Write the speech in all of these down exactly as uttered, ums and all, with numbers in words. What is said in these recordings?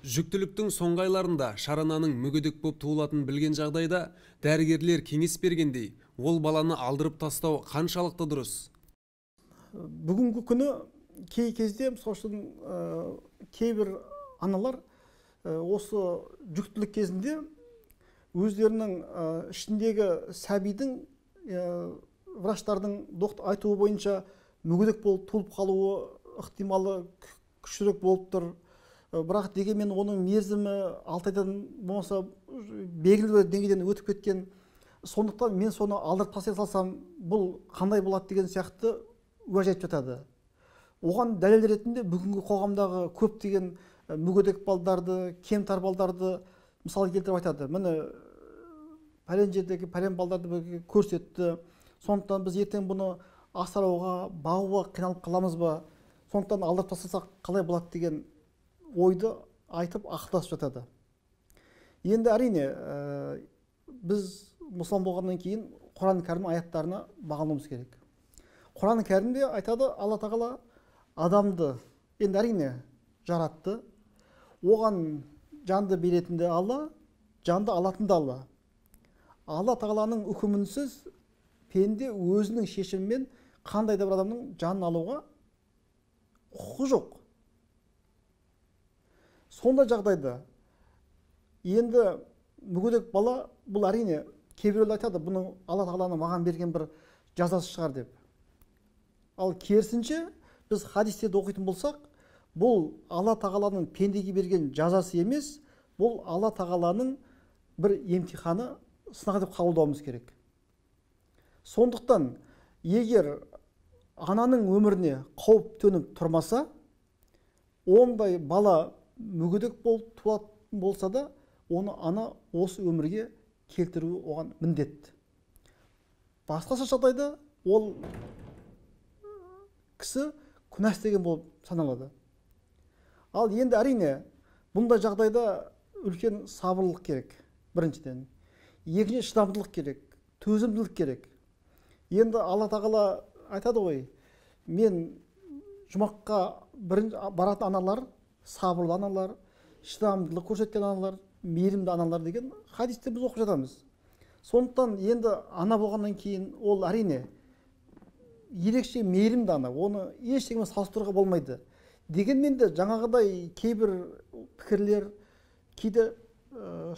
Жүктіліктің соңғы айларында шарананың мүгедек боп туылатынын білген жағдайда дәрігерлер кеңес бергендей, ол баланы алдырып тастау қаншалықты дұрыс? Бүгінгі күні кей кезде мысалы үшін кейбір аналар осы жүктілік кезінде өздерінің ішіндегі сәбидің врачтардың айтуы бойынша мүгедек болып туылып қалуы ықтималы күштірек болып тұр. Бірақ дегенмен оның мерзімі алты айдан болмаса белгілі бір деңгейден өтіп кеткен. Сондықтан мен соны алдырып тастай салсам, бұл қандай болады деген сияқты уәж айтып жатады. Оған дәлел ретінде бүгінгі қоғамдағы көптеген мүгедек балдарды, кемтар балдарды мысалы келтіріп айтады. Міне пәлен жердегі пәлен балдарды көрсетті. Сондықтан біз ертең бұны асырауға, бағуға қиналып қаламыз ба? Сондықтан алдырып тастасақ қалай болады деген ойды айтып ақылдасып жатады. Енді әрине біз мұсылман болғаннан кейін Құран кәрім аяттарына бағынуымыз керек. Құран кәрімде айтады, Алла тағала адамды енді әрине жаратты. Оған жанды беретін де Алла, жанды алатын да Алла. Алла тағаланың үкімінсіз пенде өзінің шешімімен қандай да бір адамның жанын алуға құқы жоқ. Сонда жағдайда енді мүгедек бала, бұл әрине кейбіреулер айтады, бұның Алла тағаланың маған берген бір жазасы шығар деп. Ал керісінше біз хадистерді оқитын болсақ, бұл Алла тағаланың пендеге берген жазасы емес, бұл Алла тағаланың бір емтиханы, сынағы деп қабылдауымыз керек. Сондықтан егер ананың өміріне қауіп төніп тұрмаса, ондай бала мүгедек болып туатын болса да, оны ана осы өмірге келтіруі оған міндет. Басқаша жағдайда ол кісі күнә істеген болып саналады. Ал енді әрине бұндай жағдайда үлкен сабырлық керек, біріншіден. Екінші шыдамдылық керек, төзімділік керек. Енді Алла тағала айтады ғой, мен жұмаққа баратын аналар, сабырлы аналар, шыдамдылық көрсеткен аналар, мейірімді аналар деген хадисте біз оқып жатамыз. Сондықтан енді ана болғаннан кейін ол әрине ерекше мейірімді ана, оны ештеңемен салыстыруға болмайды. Дегенмен де жаңағыдай кейбір пікірлер, кейде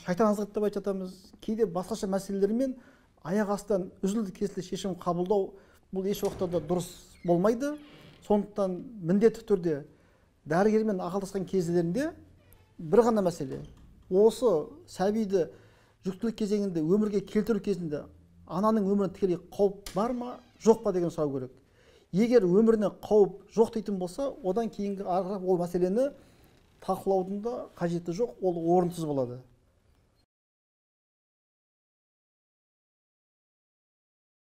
шайтан азғырды деп айтып жатамыз, кейде басқаша мәселелермен аяқ астынан үзілді кесілді шешім қабылдау, бұл еш уақытта да дұрыс болмайды. Сондықтан міндетті түрде дәрігермен ақылдасқан кездерінде бір ғана мәселе, осы сәбиді жүктілік кезеңінде өмірге келтіру кезінде ананың өміріне тікелей қауіп бар ма, жоқ па деген сұрау керек. Егер өміріне қауіп жоқ дейтін болса, одан кейінгі ары қарай ол мәселені талқылаудың да қажеті жоқ, ол орынсыз болады.